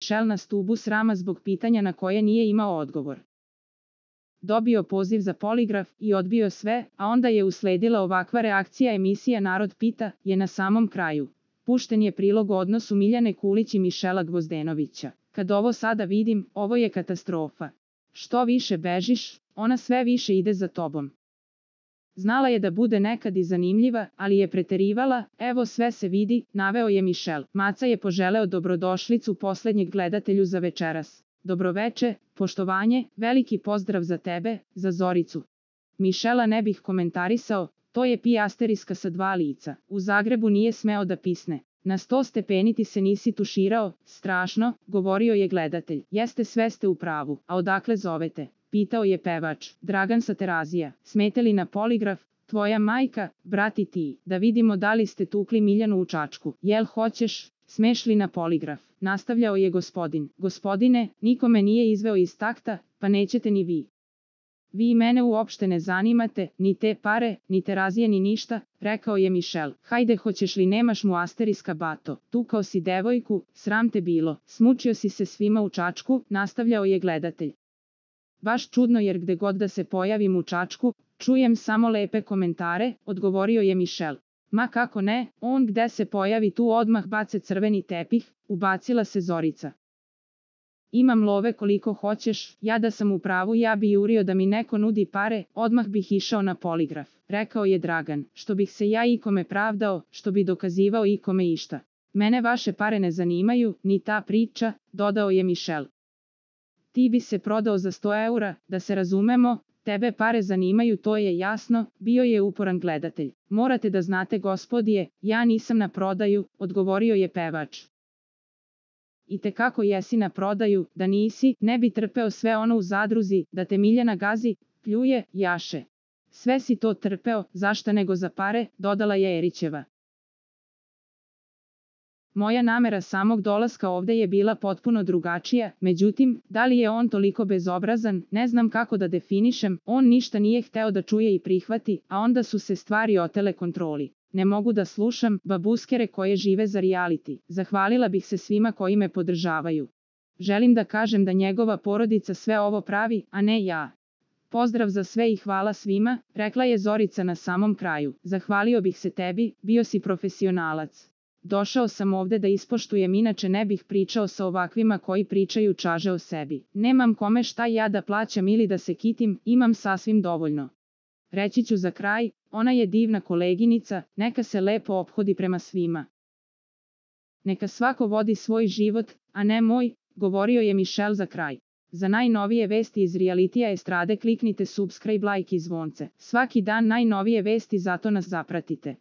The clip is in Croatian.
Michel na stubu srama zbog pitanja na koje nije imao odgovor. Dobio poziv za poligraf i odbio sve, a onda je usledila ovakva reakcija. Emisija Narod pita je na samom kraju. Pušten je prilog o odnosu Miljane Kulić i Mišela Gvozdenovića. Kad ovo sada vidim, ovo je katastrofa. Što više bežiš, ona sve više ide za tobom. Znala je da bude nekad i zanimljiva, ali je preterivala. Evo sve se vidi, naveo je Mišel. Maca je poželeo dobrodošlicu poslednjeg gledatelju za večeras. Dobroveče, poštovanje, veliki pozdrav za tebe, za Zoricu. Mišela ne bih komentarisao, to je pijasteriska sa 2 lica. U Zagrebu nije smeo da pisne. Na 100 stepeni ti se nisi tuširao, strašno, govorio je gledatelj. Jeste, sve ste u pravu, a odakle zovete? Pitao je pevač. Dragan sa Terazija. Smete li na poligraf? Tvoja majka, brat i ti, da vidimo da li ste tukli Miljanu u Čačku. Jel hoćeš? Smeš li na poligraf? Nastavljao je gospodin. Gospodine, niko me nije izveo iz takta, pa nećete ni vi. Vi mene uopšte ne zanimate, ni te pare, ni Terazije ni ništa, rekao je Mišel. Hajde, hoćeš li, nemaš mu asteriska bato, tukao si devojku, sram te bilo, smučio si se svima u Čačku, nastavljao je gledatelj. Baš čudno, jer gde god da se pojavim u Čačku, čujem samo lepe komentare, odgovorio je Mišel. Ma kako ne, on gde se pojavi tu odmah bace crveni tepih, ubacila se Zorica. Imam love koliko hoćeš, ja da sam u pravu ja bi jurio da mi neko nudi pare, odmah bih išao na poligraf, rekao je Dragan, što bih se ja ikome pravdao, što bi dokazivao ikome išta. Mene vaše pare ne zanimaju, ni ta priča, dodao je Mišel. Ti bi se prodao za 100 eura, da se razumemo, tebe pare zanimaju, to je jasno, bio je uporan gledatelj. Morate da znate, gospodije, ja nisam na prodaju, odgovorio je pevač. I te kako jesi na prodaju, da nisi, ne bi trpeo sve ono u zadruzi, da te Miljana gazi, pljuje, jaše. Sve si to trpeo, zašta nego za pare, dodala je Erićeva. Moja namera samog dolaska ovde je bila potpuno drugačija, međutim, da li je on toliko bezobrazan, ne znam kako da definišem, on ništa nije hteo da čuje i prihvati, a onda su se stvari otele kontroli. Ne mogu da slušam babuskere koje žive za reality. Zahvalila bih se svima koji me podržavaju. Želim da kažem da njegova porodica sve ovo pravi, a ne ja. Pozdrav za sve i hvala svima, rekla je Zorica na samom kraju. Zahvalio bih se tebi, bio si profesionalac. Došao sam ovde da ispoštujem, inače ne bih pričao sa ovakvima koji pričaju čaže o sebi. Nemam kome šta ja da plaćam ili da se kitim, imam sasvim dovoljno. Reći ću za kraj, ona je divna koleginica, neka se lepo ophodi prema svima. Neka svako vodi svoj život, a ne moj, govorio je Mišel za kraj. Za najnovije vesti iz realitija estrade kliknite subscribe, like i zvonce. Svaki dan najnovije vesti, zato nas zapratite.